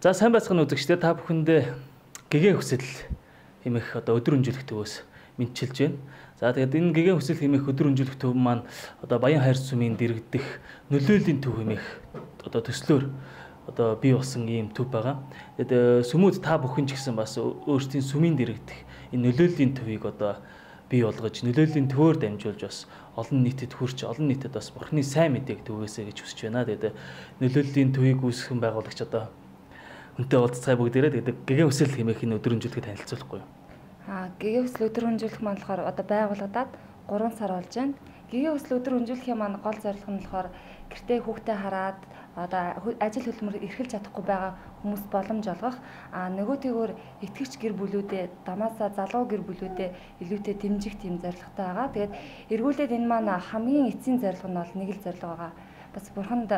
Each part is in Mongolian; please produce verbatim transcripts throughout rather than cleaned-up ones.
За сайн байцгаана үзэгчдээ, та бүхэндээ гэгээн хүсэл хэмээх одоо өдөр өнжүүлэх төвөөс мэдчилж байна. За тэгээд энэ гэгээн хүсэл хэмээх өдөр өнжүүлэх төв маань одоо Баян хайр сумын дэргэдэх нөлөөлийн төв хэмээх одоо төслөөр одоо бий болсон ийм төв байгаа. Тэгээд сүмүүд та бүхэн ч гэсэн бас өөрсдийн сүмийн дэргэдэх энэ нөлөөлийн төвийг одоо бий болгож, нөлөөлийн төвөөр дамжуулж бас олон нийтэд хүрч, олон нийтэд бас Бурхны сайн мэдээг түгээсэй гэж хүсэж байна. Тэгээд нөлөөлийн төвийг үүсгэн байгуулагч одоо үнтэй уулзцай бүгдээрээ тэгээд гэгээн хүсэл хэмээх энэ өдөр өнжүүлэхэд танилцуулахгүй юу? Аа, гэгээн хүсэл өдөр өнжүүлэх маань болохоор одоо байгуулагдаад гурван сар болж байна. Гэгээн хүсэл өдөр өнжүүлэхийн маань гол зорилго нь болохоор гэртээ хүүхдээ хараад одоо ажил хөдөлмөр эрхэлж чадахгүй байгаа хүмүүс боломж олгох. Аа, нөгөөтэйгөр итгэгч гэр бүлүүдэд, дамаасаа залуу гэр бүлүүдэд илүүтэй дэмжих тийм зорилготой байгаа. Тэгээд эргүүлээд энэ маань хамгийн эцсийн зорилго нь бол нэг л зорилго байгаа. Бас бурханд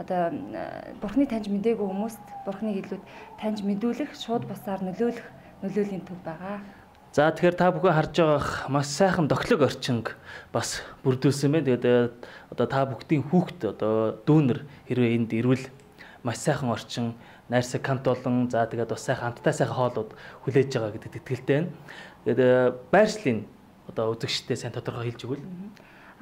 одоо бурхны таньж мдээгүй хүмүүст бурхныг илүүд таньж мэдүүлэх, шууд бусаар нөлөөлөх нөлөөлийн төв байгаа. За тэгэхээр та бүхэн харж байгаа маш сайхан доклог орчинг бас бүрдүүлсэн байна. Тэгээд одоо та бүгдийн хүүхд одоо дүүнер хэрвээ энд ирвэл маш сайхан орчин, найрсаг кант болон за тэгээд бас сайхан хамттай сайхан хоолууд хүлээж байгаа гэдэгт итгэлтэй байна. Тэгээд байршлын одоо үзэгчтэй сайн тодорхой хэлж өгвөл.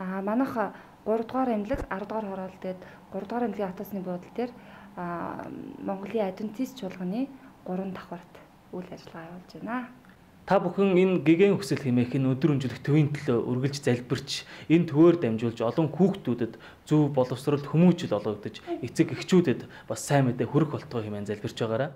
Аа, манайх гурав дугаар эмнэлэг, арав дугаар хороол гээд гурав дугаар эмнэлгийн автобусны буудлын дээр Монголын адвентист чуулганы гурван давхарт үйл ажиллагаа явуулж байна. Та бүхэн энэ гэгээн хүсэл хэмээх энэ өдөр өнжүүлэх төвийн төлөө үргэлж залбирч, энэ төвөөр дамжуулж олон хүүхдүүдэд зөв боловсрол хүмүүжил олгогдож, эцэг эхчүүдэд бас сайн мэдээ хүрэх болтугай хэмээн залбирч байгаарай.